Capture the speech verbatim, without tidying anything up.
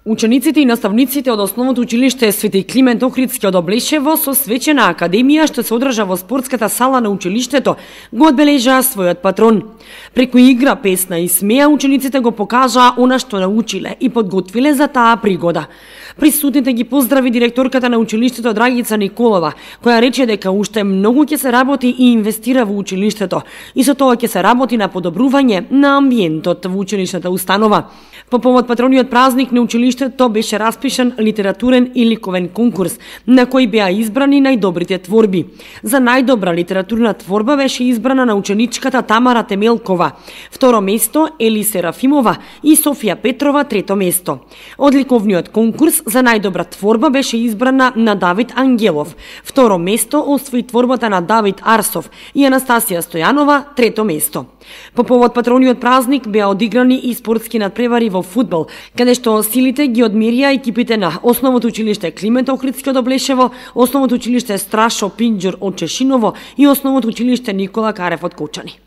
Учениците и наставниците од Основното училиште Свети Климент Охридски од Облешево со свечена академија што се одржа во спортската сала на училиштето го одбележаа својот патрон. Преку игра, песна и смеа учениците го покажаа она што научиле и подготвиле за таа пригода. Присутните ги поздрави директорката на училиштето Драгица Николова, која рече дека уште многу ќе се работи и инвестира во училиштето и со тоа ќе се работи на подобрување на амбиентот во училишната установа. По повод патрониот празник на училиштето беше распишан литературен и ликовен конкурс, на кој беа избрани најдобрите творби. За најдобра литературна творба беше избрана на ученичката Тамара Темелкова, второ место Ели Серафимова и Софија Петрова трето место. Одликовниот конкурс за најдобра творба беше избрана на Давид Ангелов, второ место освои творбата на Давид Арсов и Анастасија Стојанова трето место. По повод патрониот празник беа одиграни и спортски надпревари во фудбал, каде што силите ги одмерија екипите на Основното училиште Климент Охридски од Облешево, Основното училиште Страшо Пинџур од Чешиново и Основното училиште Никола Карев од Кочани.